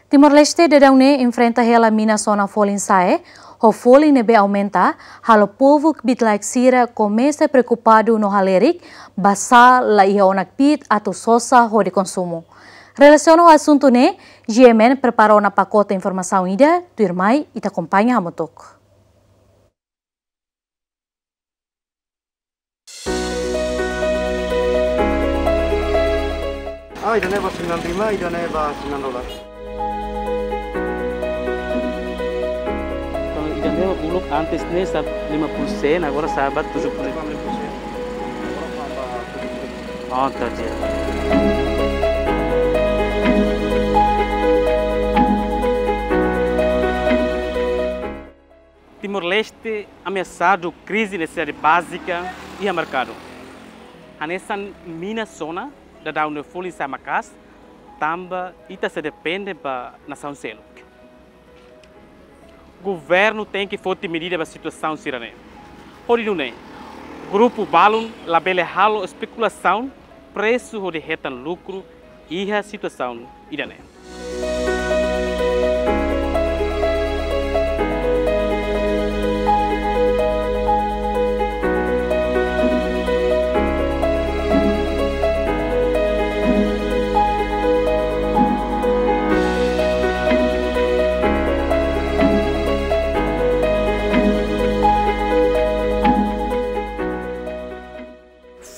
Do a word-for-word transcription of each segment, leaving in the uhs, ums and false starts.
Timor-Leste daudaun ne'e enfrenta hela mina sona folin sa'e, ho folin ne'ebé aumenta, halo povu kbiit-laek sira komesa preokupadu no halerik, basá la iha ona kbiit atu sosa hodi konsumu. Relasiona ho asuntu ne'e, G M N prepara ona pakote informasaun ida, tuirmai ita akompaña hamutuk. Ah, ida-ne'e ba sembilan lima, ida-ne'e ba sembilan dolar. Kalau ida-ne'e uluk antes ne'e sa lima puluh sen, agora sa ba tujuh puluh. Oh, terjadi. Timor-Leste ameasadu krize nesesidade bázika iha merkadu. Hanesan mina sona, daudaun ne'e folin sa'e maka'as, tanba ita sei depende ba nasaun seluk. Governu tenke foti medida ba situasaun sira-ne'e. Hodi nune'e, grupu balun labele halo espekulasaun presu hodi hetan lukru iha situasaun ida-ne'e.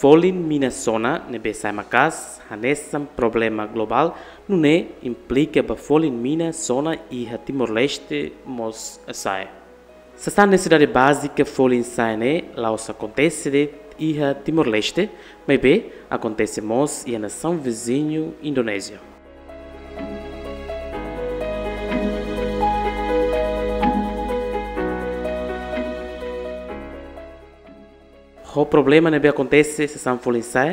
Folin mina sona ne'ebé sa'e maka'as hanesan problema globál, nune'e implika ba folin mina sona iha Timor-Leste mós sa'e. Sasán nesesidade bázika folin sa'e ne'e la'ós akontese de'it iha Timor-Leste, maibé akontese mós iha nasaun viziñu Indonézia. Ho problema ne'ebé akontese sasán folin sa'e,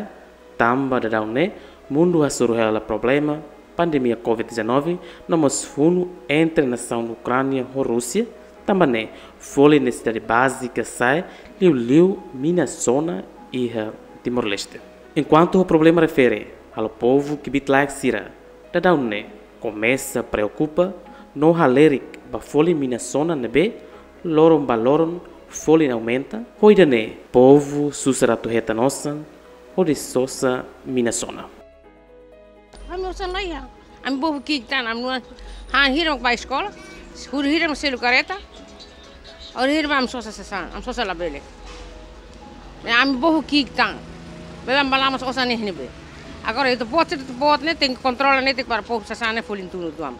tanba daudaun ne'e mundu hasoru hela problema pandemia covid dezanove, no mós funu entre nasaun Ukránia ho Rúsia, tanba ne'e folin nesesidade bázika sa'e, liuliu mina sona iha Timor-Leste. Enkuantu ho problema refere halo povu kbiit-laek sira, daudaun ne'e komesa preokupa no halerik ba folin mina sona ne'ebé loron ba loron folin aumenta, ho ida-ne'e povu susar atu hetan osan hodi sosa mina sona. Ami osan laiha. Ami bobo ki'ik tan, ami nunka han hira mak ba eskola, huri hira mak selu kareta, huri hira mak ami sosa sasán, ami sosa labele. Ami bobo ki'ik tan. Bele ami balamas osan ne'e ne'ebé. Agora ita-boot, ita-boot ne'e tenke kontrola netik para povu sasán ne'e folin tunu tuan.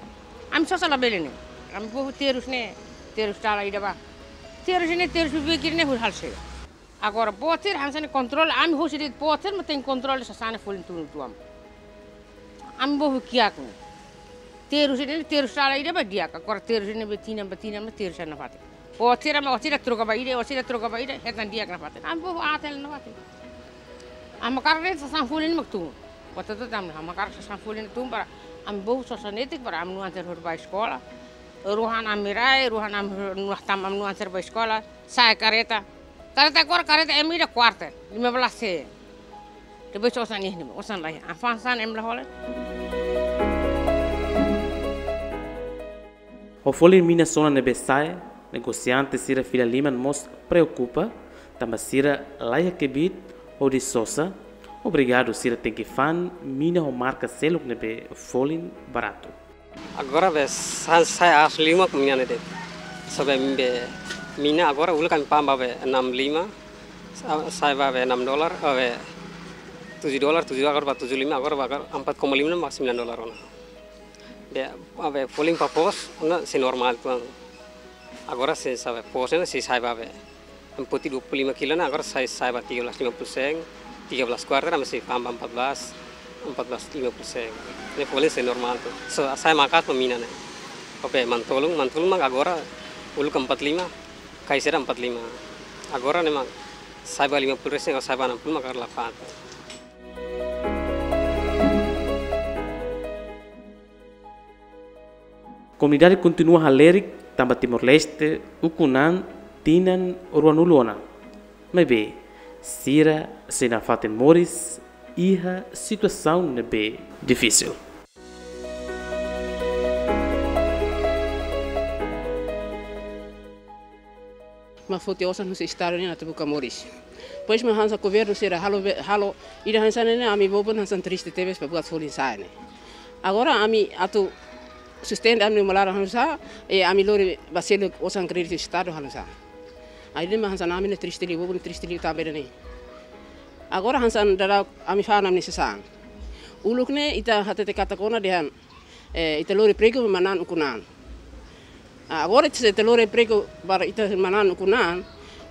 Ami sosa labele ne'e. Ami bobo terus ne'e, terus dala ida ba. Terus ne'e, terus bibikir ne'e huri hal sega. Agora, botir, hanesan ne'e kontrola, ami hosi de'it botir, mak tenke kontrola sasán ne'e folin tunu tuan. Ami bobo kiak ne'e. Terus ne'e, terus dala ida ba di'ak, agora terus ne'e be tinan, be tinan, be terus ne'e nafatin. Botir, ami botir, troka ba ida, botir, troka ba ida, hetan di'ak nafatin. Ami bobo aat hela nafatin. Ami hakarak de'it sasán folin mak tun. Botir tu tam, ami hakarak sasán folin tun para ami bobo sosa netik para ami nunka anter hodi ba eskola. Ruhan ami rai, ruhan ami nunka tam ami nunka anter ba eskola, sa'e kareta. Kareta agora, kareta ema ida kuarta, lima belas sen. Depois osan ne'e, osan laiha. Avansa ne'e ema la hola. Ho folin mina sona ne'ebé sa'e, negosiante sira fila liman mós preokupa, tanba sira laiha kbiit hodi sosa, obrigadu sira tenke fa'an mina ho marka seluk ne'ebé folin baratu. Agora be sa-, sa'e aas liu mak mina ne'e de'it. Sa'e be mina agora uluk ami fa'an ba be enam lima, sa-, sa'e ba be enam dolar, eh, be tujuh dolar, tujuh agora ba tujuh lima, agora ba agora empat koma lima mak sembilan dolar ona. Be, be folin ba foos, ona sei normál tuan. Agora sei sa'e be foos ne'e sei sa'e ba be. Ami foti dua puluh lima kilo ne'e, agora sa'e, sa'e ba tiga belas lima puluh sen, tiga belas kuarter, ami sei fa'an ba empat belas, empat belas lima puluh sen. Ne'e folin sei normál tu. So, sa'e maka'as mak mina ne'e. Oke, mantolun, mantolun mak agora uluk empat lima, kaisera empat lima. Agora ne'e mak sa'e ba lima puluh resin, sa'e ba enam puluh mak agora la fa'an. Komunidade kontinua halerik tanba Timor-Leste ukun an tinan ruanulu ona. Maibé, sira sei nafatin moris iha situasaun ne'ebé difisil. Mak foti osan husi estadu nian atu buka moris. Depois mak hanesan governu sira halo be-, halo ida hanesan ne'e, ami bobon hanesan triste tebes ba buat folin sa'e ne'e. Agora ami atu sustenta ami-nia uma laran halo nu'usá, i ami lori ba selu osan kréditu estadu halo nu'usá. Ai, ida-ne'e mak hanesan ami ne'e triste liu, bobon triste liu tanba ida-ne'e. Agora hanesan daudaun ami fa'an ami-nia sasán. Uluk ne'e ita hatete katak kona dehan, eh, ita lori pregu manán ukun-an. Ah, agora ita se ita lori pregu para ita manán ukun-an,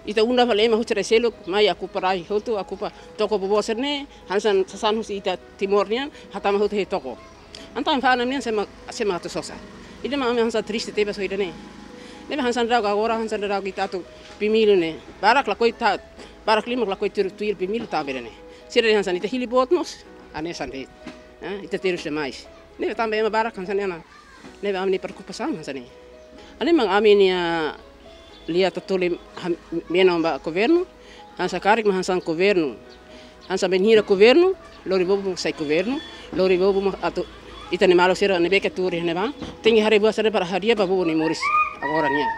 ita unda fali ema husi rai seluk mai okupa rai hotu, okupa toko boboot sira-ne'e, hanesan sasán husi ita Timor nian, hatama hotu iha toko. Entaun fa'an ami-nian sé mak, sé mak atu sosa. Ida-ne'e mak ami hanesan triste tebes ho ida-ne'e. Ne'ebé hanesan daudaun agora, hanesan daudaun ita atu pemilu ne'e. Barak lakohi ta, barak liu mak lakohi tuir, tuir pemilu tanba ida-ne'e. Sira dehan hanesan ita hili boot mós, hanesan de'it. Eh, ita terus demais. Ne'ebé tanba ema barak hanesan ne'e ona. Ne'ebé ami-nia preokupasaun hanesan ne'e. Hanesan mak ami-nia lia tatoli ham-, menon ba governu, hanesan karik mak hanesan governu. Hanesan bainhira governu, lori bobo mak sai governu, lori bobo mak atu ita-nia maluk sira ne'ebé ke tuur iha ne'ebá, tenke haree buat sira-ne'e para hadi'a ba bobo nia moris agora nian.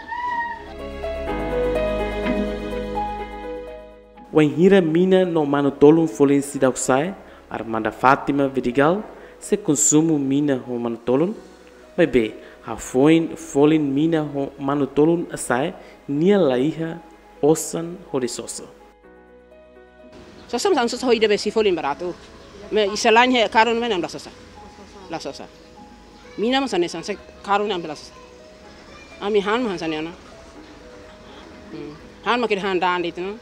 Wainhira mina no manu-tolun folin seidauk sa'e, Armanda Fátima Vidigal, sei konsumu mina ho manu-tolun, maibé hafoin folin mina ho manu-tolun sa'e, nia la iha osan hodi sosa. Sosa mak hanesan sosa ho ida be sei folin baratu. Maibé selain iha karun ne'e ami la sosa. La sosa. Mina mak hanesan hanesan karun ne'e ami la sosa. Ami han mak hanesan ne'e ona. Hmm. Han mak ita han da'an de'it ona.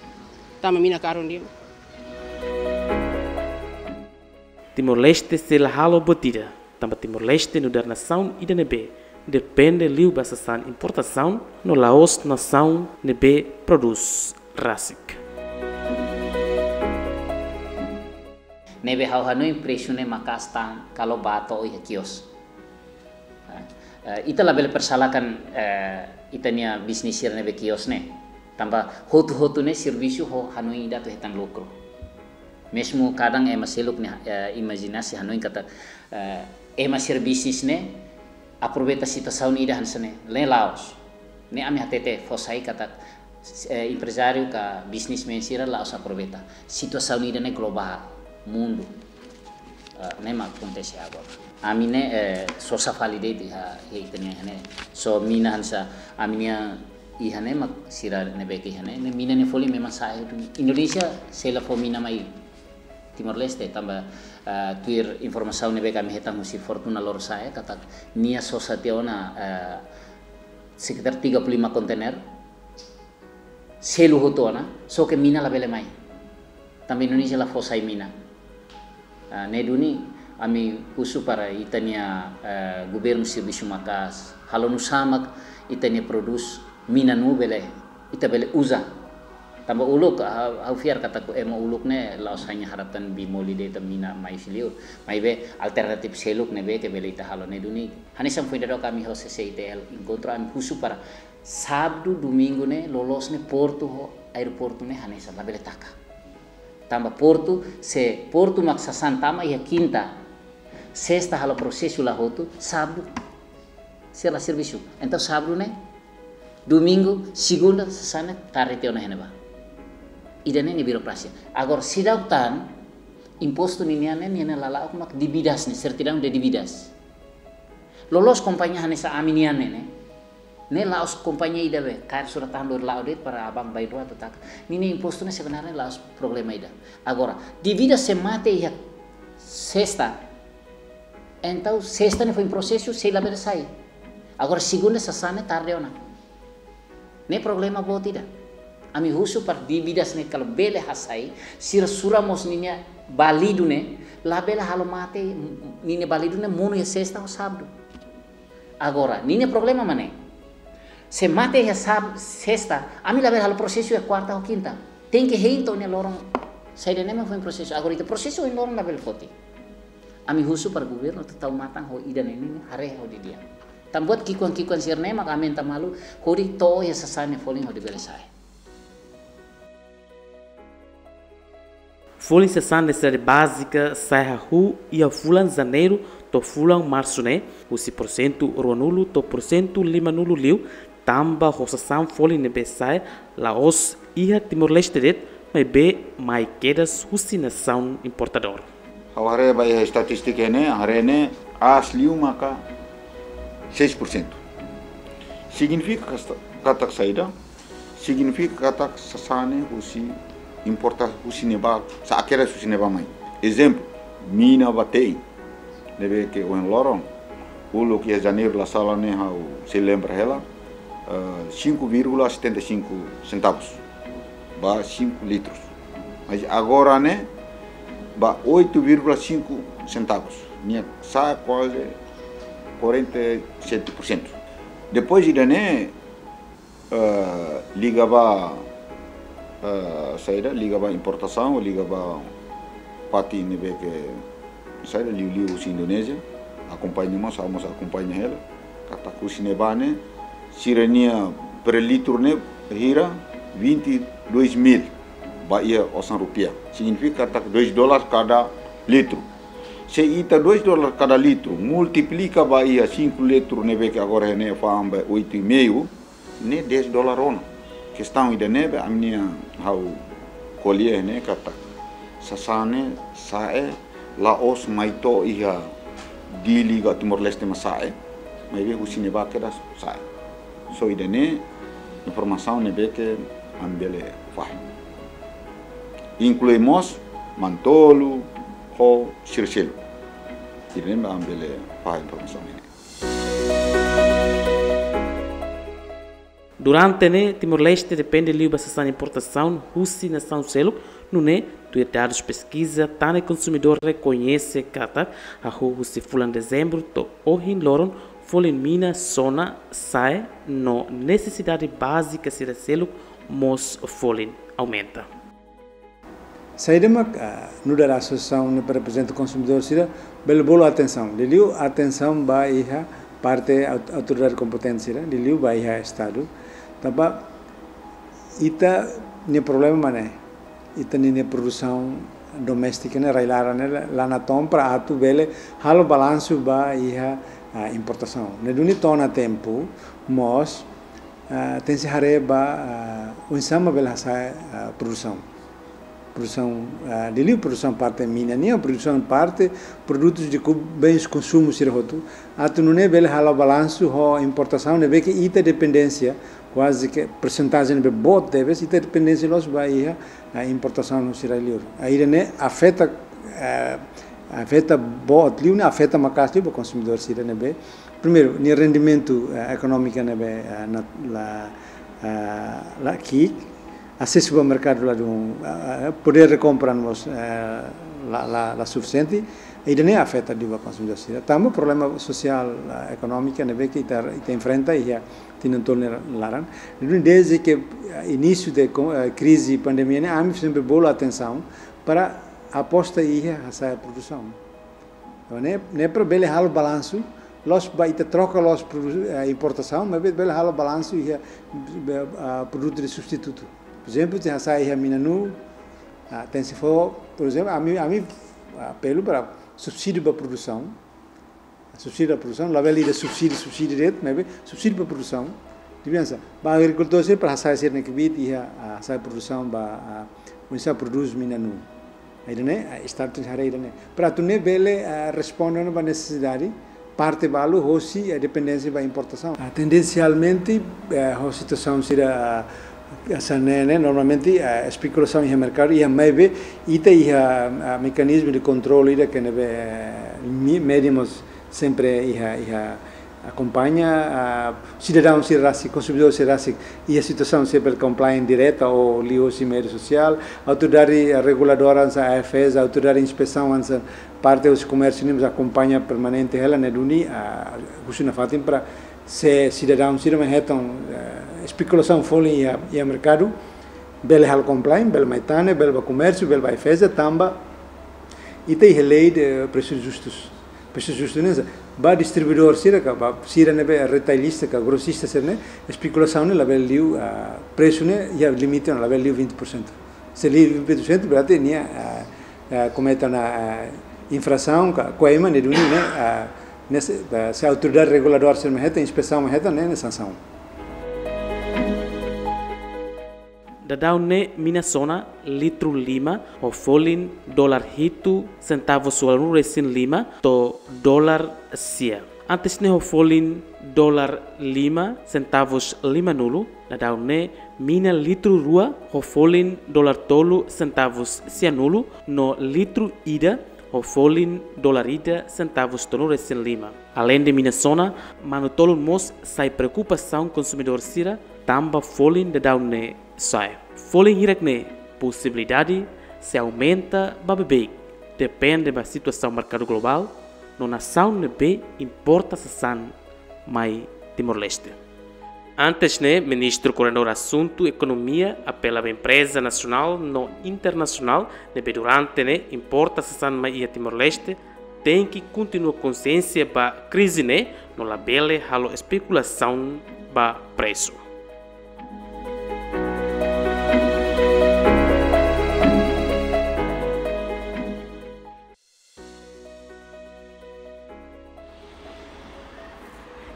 Tanba mina karun de'it. Timor-Leste sei la halo buat ida, tanba Timor-Leste nu'udar nasaun ida ne'ebé depende liu ba sasán importasaun, no la'ós nasaun ne'ebé prodús rasik. Ne'ebé ha'u hanoin presu ne'e maka'as tan kalau bá to'o iha kios. Eh, ita labele persalahkan, eh, ita-nia bisnis sira ne'ebé kios ne'e. Tanba hotu-hotu ne'e servisu ho hanoin ida atu hetan lukru. Mezmu kadang ema seluk ne'e, eh, imajinasi hanoin katak, eh, ema sira bisnis ne'e aproveita situasaun ida hanesan ne'e, ne'e la'ós. Ne'e ami hatete fó sai katak, eh, emprezáriu ka businessman sira la'ós aproveita. Situasaun ida-ne'e globál, mundu. Eh, ne'e mak akontese agora. Ami ne'e, eh, sosa fali de'it iha, iha ita-nia ne'e. Só mina hanesan, ami-nia iha ne'e mak sira ne'ebé ke iha ne'e. Ne'e mina ne'e folin memang sa'e hotu. Indonézia sei la fó mina mai Timor-Leste, tanba, eh, tuir informasaun ne'ebé ke ami hetan husi Fortuna Lorosa'e, katak nia sosa tiha ona, eh, sekitar tiga puluh lima kontainer, selu hotu ona, só ke mina labele mai. Tanba Indonézia la fó sai mina. Ah, ne'e duni ami husu para ita-nia, eh, governu servisu maka'as, halo nu'usá mak ita-nia prodús mina ne'e bele, ita bele uza. Tanba uluk, ah, ha'u fiar katak ema uluk ne'e la'ós hanya harap tan bimoli de'it ita mina mai husi liur. Maibé alternatif seluk ne'ebé ke bele ita halo ne'e duni. Hanesan foin daudauk ami ho C C I T L enkontru, ami husu para sábadu, domingu ne'e, loloos ne'e portu ho aeroportu ne'e hanesan labele taka. Tanba portu, se portu mak sasán tama iha kinta, sesta halo prosesu la hotu, sábadu sira la servisu. Entaun sábadu ne'e, domingu, segunda, sasán ne'e tarde tiha ona iha ne'ebá. Ida-ne'e nia birokrasia. Agora seidauk tan, impostu ninian ne'e, nian ne'e lala'ok mak dívidas ne'e, sertidaun de dívidas. Loloos kompañia hanesan ami-nian ne'e, ne'e. Ne'e la'ós kompañia ida be, kaer surat-tahan lori la'o de'it para banku bainrua atu taka. Ninia impostu ne'e sebenarnya la'ós problema ida. Agora, dívida se mate iha sesta, entaun sesta ne'e foin prosesu, sei labele sai. Agora, segunda sasán ne'e tarde ona. Ne'e problema boot ida. Ami husu para dívidas ne'e kalau bele hasai, sira sura mós ninia balidu ne'e, labele halo mate, ninia balidu ne'e monu iha sesta ou sábadu. Agora, ninia problema mak ne'e. Se mate iha sab-, sesta, ami labele halo prosesu iha kuarta ou kinta. Tenke hein to'o nia loron. Saida ne'e mak foin prosesu. Agora ita prosesu ohin loron labele foti. Ami husu para governu atu tau matan ho ida-ne'e nian, haree ho didi'ak. Tan buat ki'ikoan-ki'ikoan sira-ne'e mak ami enta malu, hodi to'o iha sasán ne'e folin hodi bele sai. Folin sasán nesesidade bázika sai hahú iha fulan Janeiru to'o fulan Marsu ne'e, husi porsentu ruanulu to'o porsentu limanulu liu, Tanba ho sasán folin ne'ebé sa'e la'ós iha Timor-Leste de'it, maibé mai kedas husi nasaun importadór. Ha'u haree ba iha estatístika ne'e, haree ne'e aas liu maka seis por cento. Signifika kasta-, katak saida? Signifika katak sasán ne'e husi importa husi ne'ebá, sa'e kedas husi ne'ebá mai. Ezemplu, mina ba te'in. Ne'ebé ke ohin loron, uluk iha Janeiru la sala ne'e ha'u sei lembra hela, eh, cinco vírgula setenta e cinco centavos ba cinco litros. Mas agora ne'e ba oito vírgula cinco centavos. Nia sa'e kuaze quarenta e sete por cento. Depois ida-ne'e, eh, liga ba, eh, saida, liga ba importasaun, liga ba fatin ne'ebé ke saida, liuliu husi Indonézia, akompaña mós, ha'u mós akompaña hela, katak husi ne'ebá ne'e, sira-nia per litro ne'e hira vinte e dois mil ba iha osan rupiah. Signifika katak dois dólar kada litro. Se ita dois dólar kada litro, multiplika ba iha cinco litro ne'ebé ke agora ne'e fa'an ba oito e meio, ne'e dez dólar ona. Kestaun ida-ne'ebé ami-nia ha'u ko'alia ne'e katak sasán ne'e sa'e la'ós mai to'o iha Dili ka Timor-Leste mak sa'e, maibé husi ne'ebá kedas sa'e. So ida-ne'e informasaun ne'ebé ke ami bele fahe. Inklui mós Manu-Tolon ho sira seluk. Ida-ne'e mak ami bele fahe informasaun ne'e. Durante ne'e, Timor-Leste depende liu ba sasán importasaun husi nasaun seluk, nune'e tuir dadus peskiza, tan ne'e konsumidór rekoñese katak, hahú husi fulan Dezembru to'o ohin loron, folin mina sona sa'e no nesesidade bázika sira seluk mós folin aumenta. Saida mak, ah, nu'udar asosiasaun ne'ebé reprezenta konsumidór sira, bele bolu atensaun. Liuliu atensaun ba iha parte aut-, autoridade kompetente sira, liuliu ba iha Estadu. Tanba ita-nia problema mak ne'e, ita-nia, nia produsaun doméstika ne'e, rai-laran ne'e, la, la natoon para atu bele halo balansu ba iha, ah, importasaun. Ne'e duni to'o ona tempu, mós, ah, tenke haree ba, ah, oinsá mak bele hasa'e, ah, produsaun. Produsaun, ah, liuliu produsaun parte mina nian, produsaun parte produtus de ku-, bens konsumu sira hotu. Atu nune'e bele halo balansu ho importasaun, ne'ebé ke ita dependénsia, kuaze ke persentajen ne'ebé boot tebes, ita dependénsia loos ba iha, ah, importasaun husi rai-liur. Ah, ida-ne'e afeta, ah, afeta boot liu, ne'e afeta maka'as liu ba konsumidór sira ne'ebé. Primeiru, nia rendimentu, eh, ekonómiku ne'ebé, eh, na, la, eh, la ki'ik, asesu ba merkadu ladún, eh, eh, podér de kompra mós, eh, la, la, la sufisiente, ida-ne'e afeta liu ba konsumidór sira. Tanba problema sosiál, eh, ekonómiku ne'ebé ke ita, ita enfrenta iha tinan tolu nia laran. Duni dezde ke, eh, inísiu de ko-, eh, krize pandemia ne'e, ami sempre bolu atensaun para aposta iha hasa'e produsaun. Ne'e, ne'e para bele halo balansu, loos ba ita troka loos produ-, eh, importasaun, maibé bele halo balansu iha, eh, ah, produtu de substitutu. Por ezemplu, tenke hasa'e iha mina-nuu, ah, tenke fó, por ezemplu, ami, ami, ah, apelu para subsídiu ba produsaun. Subsídiu ba produsaun, labele ida subsídiu, subsídiu de'it, maibé subsídiu ba produsaun. Diferensa. Ba agrikultór sira para hasa'e sira-nia kbiit iha, ah, hasa'e produsaun ba, ah, oinsá prodús mina-nuu. Ida-ne'e, ah, Estadu tenke haree ida-ne'e. Para atu nune'e bele, ah, responde ona ba nesesidade, parte balu hosi, eh, dependénsia ba importasaun. Ah, tendensialmente, eh, ho situasaun sira, ah, hanesan ne'e, ne'e, normalmente, ah, espekulasaun iha merkadu, iha maibé, ita iha, ah, mekanizmu de kontrolu ida ke ne'ebé, eh, mi-, medi mós sempre iha, iha akompaña, ah, sidadaun sira rasik, konsumidór sira rasik, iha situasaun sira bele komplain direta ou liuhosi média sosiál, autoridade, ah, reguladora hanesan AIFAESA, autoridade inspesaun hanesan parte husi komérsiu nian mós akompaña permanente hela, ne'e duni, ah, husu nafatin para se sidadaun sira mak hetan, eh, espekulasaun folin iha, iha merkadu, bele halo komplain, bele mai tane, bele ba komérsiu, bele ba AIFAESA, tanba ita iha lei de presus justus. Presu justu ne'e, ba distribuidór sira ka, ba sira ne'ebé retailista ka, grosista sira ne'e, espekulasaun ne'e labele liu, ah, presu ne'e iha limite ona, labele liu vinte por cento. Se liu vinte por cento, berarti nia, ah, ah, komete ona, ah, infrasaun ka, koima ne'e duni ne'e, ah, ne'e se, ah, se autoridade reguladora sira mak hetan, inspesaun mak hetan, ne'e, ne'e sansaun. Daudaun ne'e mina sona litru lima ho folin dolar hitu sentavus ualunulu resin lima to'o dolar sia. Antes ne'e ho folin dolar lima sentavus limanulu, daudaun ne'e mina litru rua ho folin dolar tolu sentavus sianulu, no litru ida ho folin dolar ida sentavus tolunulu resin lima. Aleinde mina sona, manu-tolun mós sai preokupasaun konsumidór sira, tanba folin daudaun ne'e sa'e. Folin hirak-ne'e posibilidade sei aumenta ba beibeik, depende ba situasaun merkadu globál, no nasaun ne'ebé importa sasán mai Timor-Leste. Antes ne'e, Ministru Koordenadór Asuntu Ekonomia apela ba empreza nasionál no internasionál ne'ebé durante ne'e importa sasán mai iha Timor-Leste, tenke kontinua konsiénsia ba krize ne'e, no labele halo espekulasaun ba presu.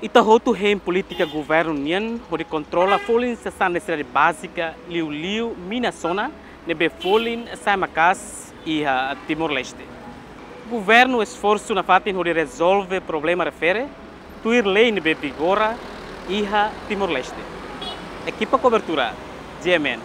Ita hotu hein polítika governu nian hodi kontrola folin sasán nesesidade bázika, liuliu mina sona, ne'ebé folin sa'e maka'as iha Timor-Leste. Governu esforsu nafatin hodi rezolve problema refere tuir lei ne'ebé vigora iha Timor-Leste. Ekipa kobertura, G M N,